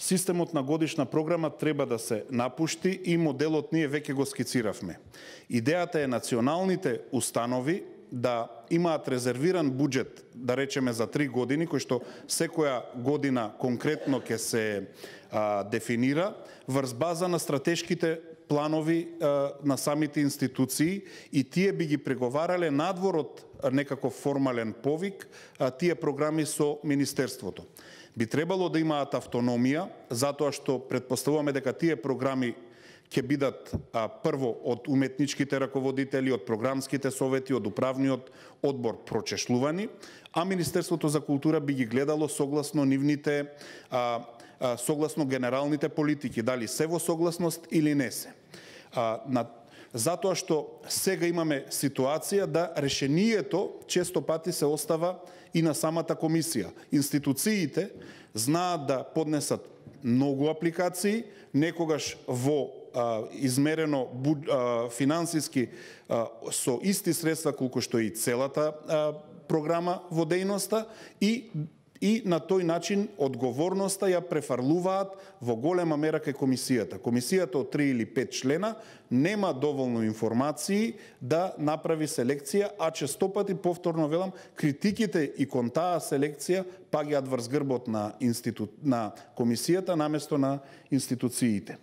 Системот на годишна програма треба да се напушти и моделот ние веќе го скициравме. Идејата е националните установи да имаат резервиран буџет, да речеме за 3 години, кој што секоја година конкретно ќе се дефинира врз база на стратешките планови на самите институции и тие би ги преговарале надвор од некаков формален повик тие програми со Министерството. Би требало да имаат автономија, затоа што предпоставуваме дека тие програми ќе бидат прво од уметничките раководители, од програмските совети, од управниот одбор прочешлувани, а Министерството за култура би ги гледало согласно нивните согласно генералните политики, дали се во согласност или не се. Затоа што сега имаме ситуација да решението често пати се остава и на самата комисија. Институциите знаат да поднесат многу апликации, некогаш во измерено финансиски со исти средства колку што и целата програма во дејноста и на тој начин одговорноста ја префарлуваат во голема мера кај комисијата. Комисијата од 3 или 5 члена нема доволно информации да направи селекција, а често пати, повторно велам, критиките и кон таа селекција паѓаат врз грбот на комисијата наместо на институциите.